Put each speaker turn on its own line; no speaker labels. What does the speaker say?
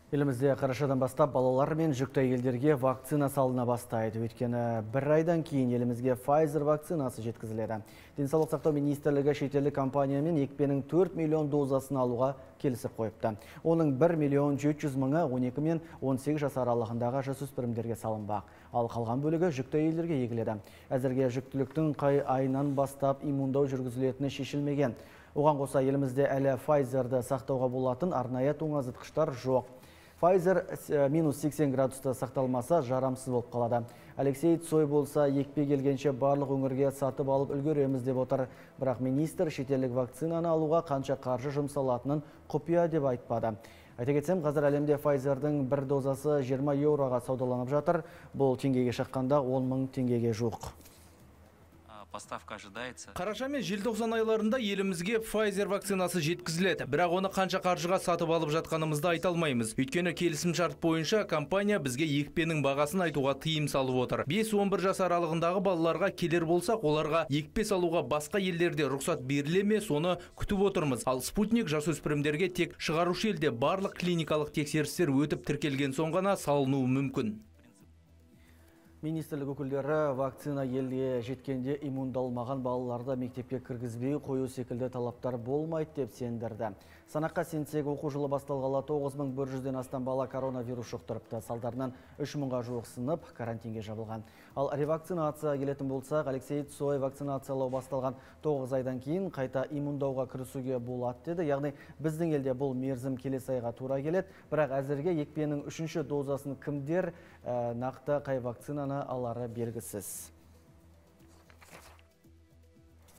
Елімізде қарашадан бастап балалар мен жүкті әйелдерге вакцина салына бастайды. Өйткені бір айдан кейін елімізге Pfizer вакцинасы жеткізіледі. Денсаулық сақтау министрлігі шетелдік компаниямен екпенің 4 миллион дозасын алуға келісіп қойыпты. Оның 1 миллион 700 мыңы 12 мен 18 жас аралығындағы жасөспірімдерге салынбақ. Ал қалған бөлігі жүкті әйелдерге егіледі. Әзірге жүктіліктің қай айынан бастап иммундау жүргізілетіні шешілмеген. Оған қоса елімізде әлі Pfizerді сақтауға болатын арнайы тоңазытқыштар жоқ. Pfizer минус 80 градуста сақталмаса жарамсыз болып қалады. Алексей Цой болса екпе келгенше барлық өңірге сатып алып үлгереміз деп отыр. Бірақ министр шетелдік вакцинаны алуға қанша қаржы жұмсалатынын құпия деп айтпады. Айта кетсем, қазір әлемде Pfizerдің бір дозасы 20 еуроға саудаланып жатыр. Бұл теңгеге шаққанда 10 мың теңгеге жуық.
Поставка ожидается.
Қараша мен желтоқсан айларында елімізге Pfizer вакцинасы жеткізіледі. Бірақ оны қанша қаржыға сатып алып жатқанымызды айта алмаймыз. Өйткені келісім шарт бойынша компания бізге екпенің бағасын айтуға тыйым салып отыр. 5-11 жас аралығындағы балаларға келер болсақ, оларға екпе салуға басқа елдерде рұқсат беріле ме, соны күтіп отырмыз. Ал спутник жасөспірімдерге тек шығарушы елде барлық клиникалық тексерістер өтіп тіркелген соң ғана салынуы мүмкін.
Министрлік өкілдері вакцина елге жеткенде иммундалмаған балаларды мектепке кіргізбей қою секілді талаптар болмайды деп сендірді. Санаққа сенсек, оқу жылы басталғалы 9100-ден астам бала коронавирус жұқтырыпты. Салдарынан 3000-ға жуық сынып карантинге жабылған. Ал ревакцинация келетін болсақ, Алексей Цой вакцинациялау басталған 9 айдан кейін қайта иммундауға кірісуге болады деді. Яғни біздің елде бұл мерзім келесі айға тура келеді. Бірақ әзірге екпенің 3-ші дозасын кімдер нақты қай вакцинаны алары белгісіз.